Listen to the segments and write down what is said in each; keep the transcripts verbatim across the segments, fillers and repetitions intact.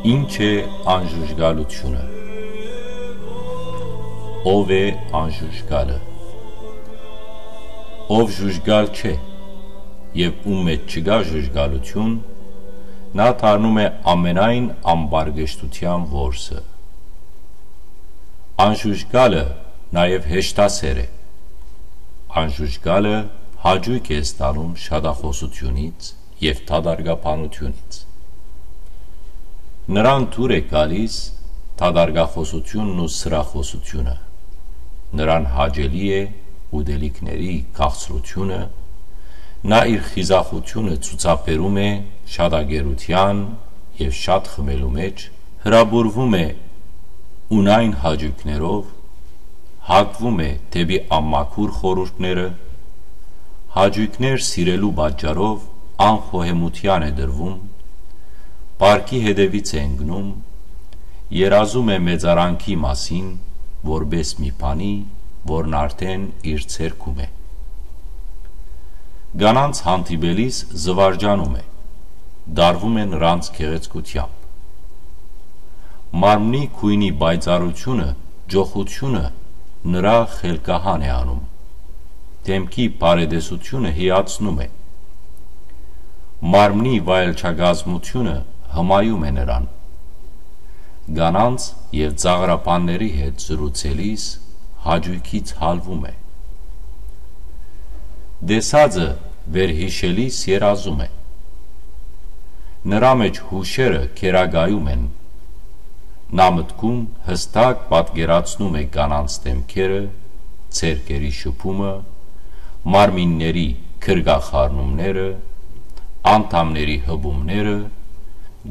Ի՞նչ է անժուժկալութիւնը։ Ո՞վ է անժուժկալը։ Ով ժուժկալ չէ եւ ում մէջ չկայ ժուժկալութիւն, նա դառնում է ամենայն ամբարկեշտութեան որսը։ Անժուժկալը նաեւ հեշտասեր է։ Անժուժկալը հաճոյք է ստանում շատախօսութիւնից եւ դատարկաբանութիւնից։ Նրան դուր է գալիս դատարկախօսութիւնն ու սրախօսութիւնը։ Նրան հաճելի է ուտելիքների քաղցրութիւնը, նա իր խիզախութիւնը ցուցաբերում է շատակերութեան եւ շատ խմելու մէջ, հրապուրվում է ունայն հաճոյքներով, հակվում է դէպի անմաքուր խորհուրդները, հաճոյքներ սիրելու պատճառով անխոհեմութեան է տրվում, պարկի հետեւից է ընկնում, երազում է մեծարանքի մասին, որպէս մի բանի, որն արդէն իր ձեռքում է։ Կանանց հանդիպելիս զուարճանում է, դարվում է նրանց գեղեցկութեամբ։ Մարմնի գոյնի պայծառութիւնը, ճոխութիւնը նրա խելքահան է անում, դէմքի բարետեսութիւնը հիացնում է։ Մարմնի վայելչակազմութիւնը հմայում է նրան։ Կանանց եւ ծաղրաբանների հետ զրուցելիս հաճոյքից հալվում է։ Տեսածը վերհիշելիս երազում է։ Նրա մէջ յուշերը գերակայում են։ Նա մտքում յստակ պատկերացնում է կանանց դէմքերը, ձեռքերի շփումը, մարմինների գրկախառնումները, անդամների հպումները,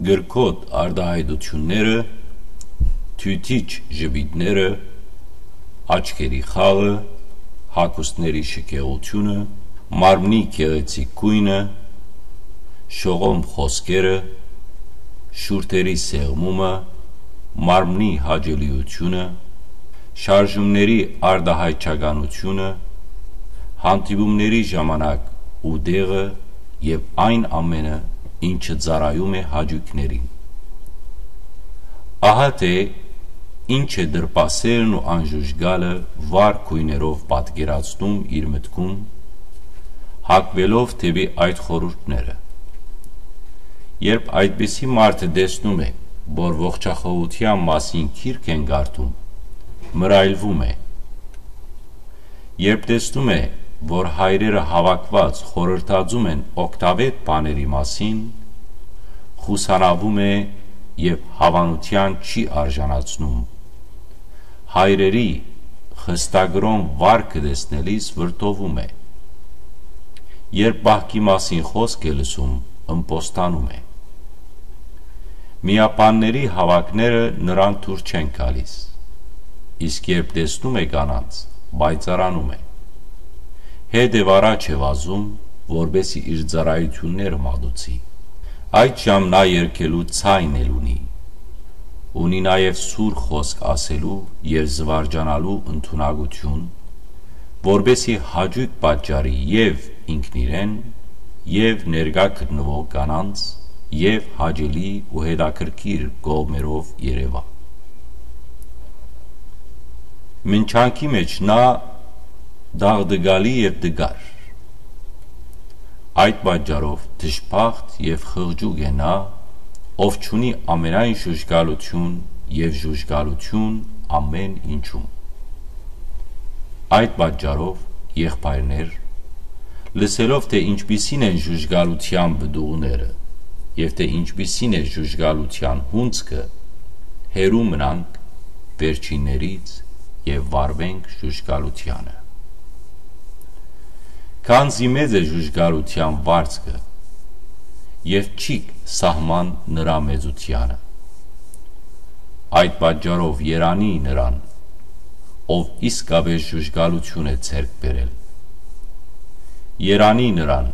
կրքոտ արտայայտութիւնները, թիթիչ ժպիտները, աչքերի խաղը, հագուստների շքեղութիւնը, մարմնի գեղեցիկ գոյնը, շողոմ խօսքերը, շուրթերի սեղմումը, մարմնի հաճելիութիւնը, շարժումների արտահայտչականութիւնը, հանդիպումների ժամանակ ու տեղը եւ այն ամէնը, ինչը ծառայում է հաճոյքներին։ Ահա թէ ինչ է դրպասերն ու անժուժկալը վառ գոյներով պատկերացնում իր մտքում, հակուելով դէպի այդ խորհուրդները։ Երբ այդպիսի մարդը տեսնում է, որ ողջախոհութեան մասին գիրք են կարդում, մռայլվում է։ Երբ տեսնում է, որ հայրերը հաւաքուած խորհրդածում են օգտավետ բաների մասին, խուսանավում է եւ հաւանութեան չի արժանացնում։ Հայրերի խստակրօն վարկը տեսնելիս վրդովում է։ Երբ պահքի մասին խօսք է լսում, ըմպոստանում է։ Միաբանների հաւաքները նրան դուր չեն գալիս, իսկ երբ տեսնում է կանանց, պայծառանում է։ Հետ եւ առաջ է վազում, որպէսզի իր ծառայութիւնները մատուցի։ Այդ ժամ նա երգելու ձայն էլ ունի։ Ունի նաեւ սուր խօսք ասելու եւ զուարճանալու ընդունակութիւն, որպէսզի հաճոյք պատճառի եւ ինքնիրեն, եւ ներկայ գտնուող կանանց, եւ հաճելի ու հետաքրքիր կողմերով երեւայ։ Մինչանքի մէջ նա տաղտկալի եւ տկար։ Այդ պատճառով դժբախտ եւ խղճուկ է նա, ով չունի ամենայն ժուժկալութիւն եւ ժուժկալութիւն ամէն ինչում։ Այդ պատճառով, եղբայրներ, լսելով թէ ինչպիսին են ժուժկալութեան պտուղները եւ թէ ինչպիսին է ժուժկալութեան հունձքը, հեռու մնանք վերջիններից եւ վարուենք ժուժկալութեանը։ Քանզի մեծ է ժուժկալութեան վարձքը, եւ չիք սահման նրա մեծութեանը։ Այդ պատճառով երանի նրան, ով իսկապէս ժուժկալութիւն է ձեռք բերել։ Երանի նրան,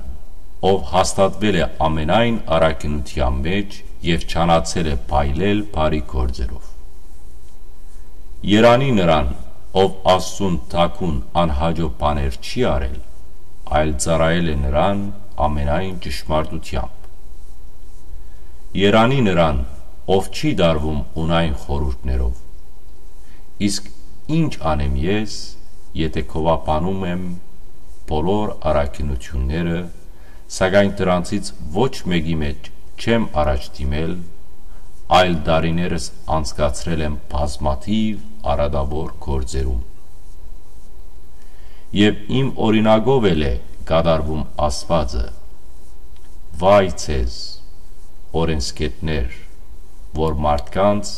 ով հաստատուել է ամենայն առաքինութեան մէջ եւ չանացել է փայլել բարի գործերով։ Երանի նրան, ով Աստծուն թաքուն անհաճոյ բաներ չի արել, այլ ծառայել է նրան ամենայն ճշմարտութեամբ։ Երանի նրան, ով չի դարվում ունայն խորհուրդներով։ Իսկ ի՞նչ անեմ ես, եթէ գովաբանում եմ բոլոր առաքինութիւնները, սակայն դրանցից ոչ մէկի մէջ չեմ առաջ դիմել, այլ տարիներս անցկացրել եմ բազմաթիւ արատաւոր գործերում։ Եւ իմ օրինակով էլ է կատարվում ասուածը. «Վայ ձեզ, օրէնսգետներ, որ մարդկանց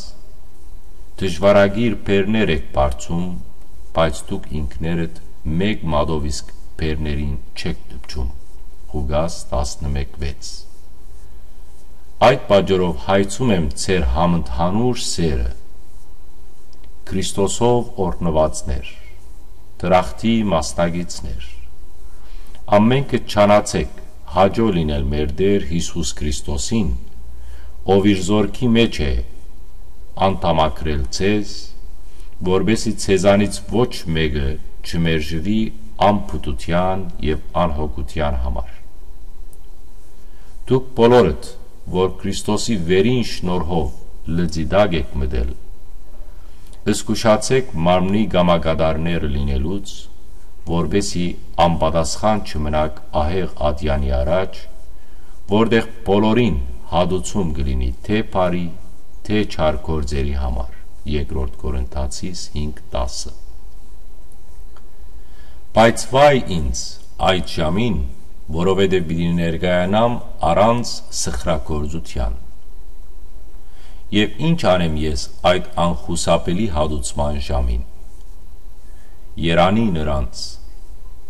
դժուարագիր բեռներ էք բարձում, բայց դուք ինքներդ մէկ մատով իսկ բեռներին չեք դպչում»։ Ղուկաս տասնմեկ վեց։ Այդ պատճառով հայցում եմ ձեր համընդհանուր սերը, Քրիստոսով օրհնուածներ, դրախտի մասնակիցներ, ամէնքը չանացէք հաճոյ լինել մեր Տէր Յիսուս Քրիստոսին, ով իր զորքի մէջ է անդամակրել ձեզ, որպեսզի ձեզանից ոչ մէկը չմերժուի անփութութեան եւ անհոգութեան համար։ Դուք բոլորդ, որ Քրիստոսի վերին շնորհով լծի տակ էք մտել, զգուշացէք մարմնի կամակատարներ լինելուց, որպեսզի անպատասխան չմնաք ահեղ ատեանի առաջ, որտեղ բոլորին հատուցում կը լինի թէ բարի, թէ չար գործերի համար։ Երկրորդ Կորինթացիս հինգ տասը։ Բայց վայ ինձ այդ ժամին, որովհետեւ պիտի ներկայանամ առանց սխրագործութեան։ Եւ ի՞նչ անեմ ես այդ անխուսափելի հատուցման ժամին։ Երանի նրանց,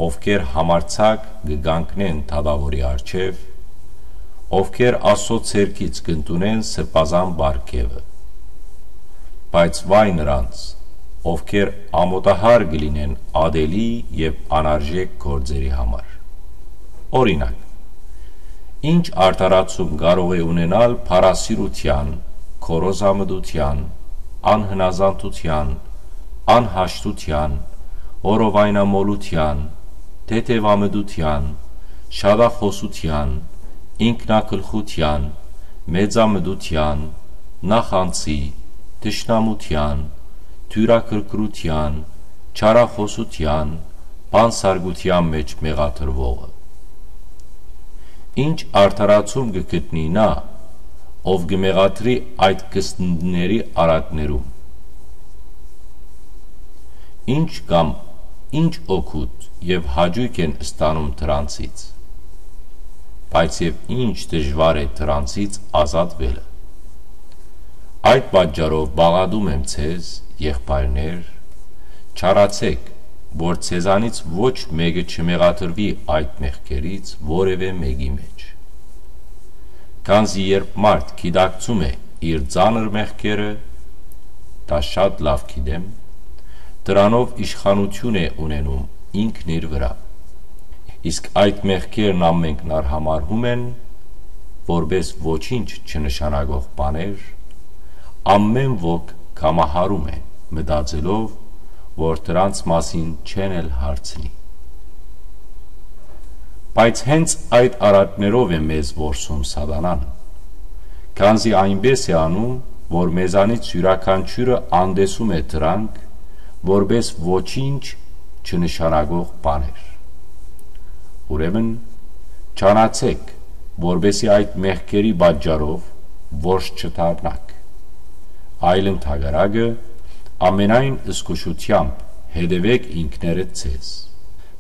ովքեր համարձակ կը կանգնեն դատաւորի առջեւ, ովքեր Աստծոյ ձեռքից կ'ընդունեն սրբազան պարգեւը։ Բայց վայ նրանց, ովքեր ամօտահար կը լինեն ատելի եւ անարժեք գործերի համար։ Օրինակ, ի՞նչ արդարացում կարող է ունենալ փառասիրութեան, գոռոզամտութեան, անհնազանդութեան, անհաշտութեան, օրովայնամոլութեան, թեթեւամտութեան, շատախօսութեան, ինքնագլխութեան, մեծամտութեան, նախանձի, թշնամութեան, թիւրաքրքրութեան, չարախօսութեան, բանսարկութեան մէջ մեղադրուողը։ Ի՞նչ արդարացում կը գտնի նա, ով կը մեղադրի այդ կստնդիների արատներում։ Ի՞նչ կամ ի՞նչ օգուտ եւ հաճոյք են ստանում դրանցից, բայց եւ ի՞նչ դժուար է դրանցից ազատուելը։ Այդ պատճառով պաղատում եմ ձեզ, եղբայրներ, չարացէք, որ ձեզանից ոչ մէկը չմեղադրուի այդ մեղքերից որեւէ մէկի մէջ։ Քանզի երբ մարդ գիտակցում է իր ծանր մեղքերը, դա շատ լաւ գիտեմ, դրանով իշխանութիւն է ունենում ինքն իր վրայ։ Իսկ այդ մեղքերն ամէնքն արհամարհում են, որպէս ոչինչ չնշանակող բաներ, ամէն ոք կամահարում է, մտածելով, որ դրանց մասին չեն էլ հարցնի։ Բայց հենց այդ արատներով է մեզ որսում սատանան, քանզի այնպէս է անում, որ մեզանից իւրաքանչիւրը անտեսում է դրանք, որպէս ոչինչ չնշանակող բաներ։ Ուրեմն, չանացէք, որպեսզի այդ մեղքերի պատճառով որս չդառնաք, այլ ընդհակառակը, ամենայն զգուշութեամբ հետեւէք ինքներդ ձեզ,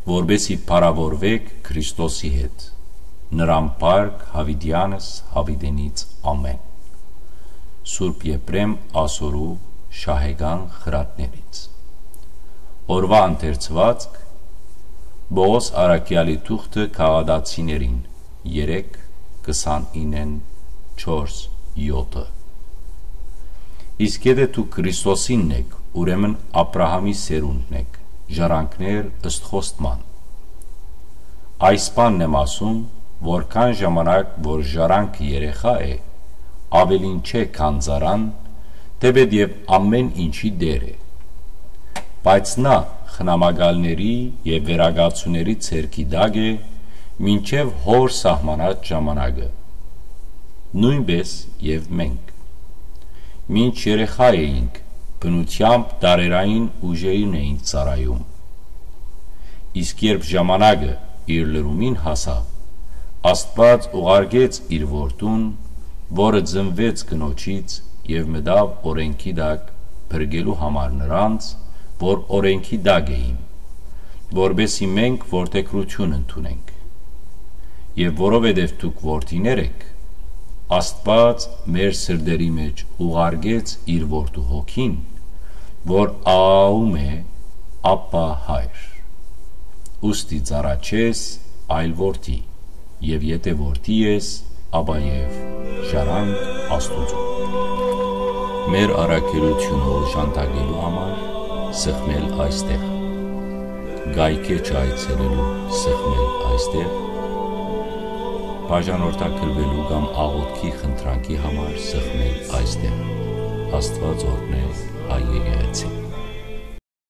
որպեսզի փառաւորուէք Քրիստոսի հետ, նրան փառք յաւիտեանս յաւիտենից ամէն։ Սուրբ Եփրեմ ասորու շահեկան խրատներից։ Օրուայ ընթերցուածք՝ Պողոս առաքեալի թուղթը Գաղատացիներին, երեք, քսանինեն, չորս, յոթը։ Իսկ եթէ դուք Քրիստոսինն էք, ուրեմն Աբրահամի սերունդն էք, ժառանգներ ըստ խոստման։ Այս բանն եմ ասում, որքան ժամանակ որ ժառանգը երեխայ է, աւելին չէ, քան ծառան, թէպէտ եւ ամէն ինչի տէր է։ Բայց նա խնամակալների եւ վերակացուների ձեռքի տակ է, մինչեւ հօր սահմանած ժամանակը։ Նոյնպէս եւ մենք։ Մինչ երեխայ էինք, բնութեամբ տարերային ուժերուն էինք ծառայում։ Իսկ երբ ժամանակը իր լրումին հասաւ, Աստուած ուղարկեց իր որդուն, որը ծնուեց կնոջից եւ մտաւ օրէնքի տակ, փրկելու համար նրանց, որ օրէնքի տակ էին, որպեսզի մենք որդեգրութիւն ընդունենք։ Եւ որովհետեւ դուք որդիներ էք, Աստուած մեր սրտերի մէջ ուղարկեց իր որդու հոգին, որ աղաղում է. «Աբա, Հայր»։ Ուստի ծառայ չես, այլ որդի, եւ եթէ որդի ես, ապա եւ ժառանգ Աստուծոյ։ Մեր առաքելութիւնը օժանդակելու համար սեղմել այստեղ։ Կայքէ չայցելելու սեղմել այստեղ։ Բաժանորդագրուելու կամ աղօթքի խնդրանքի համար սեղմել այստեղ։ Աստուած օրհնէ հայ եկեղեցին։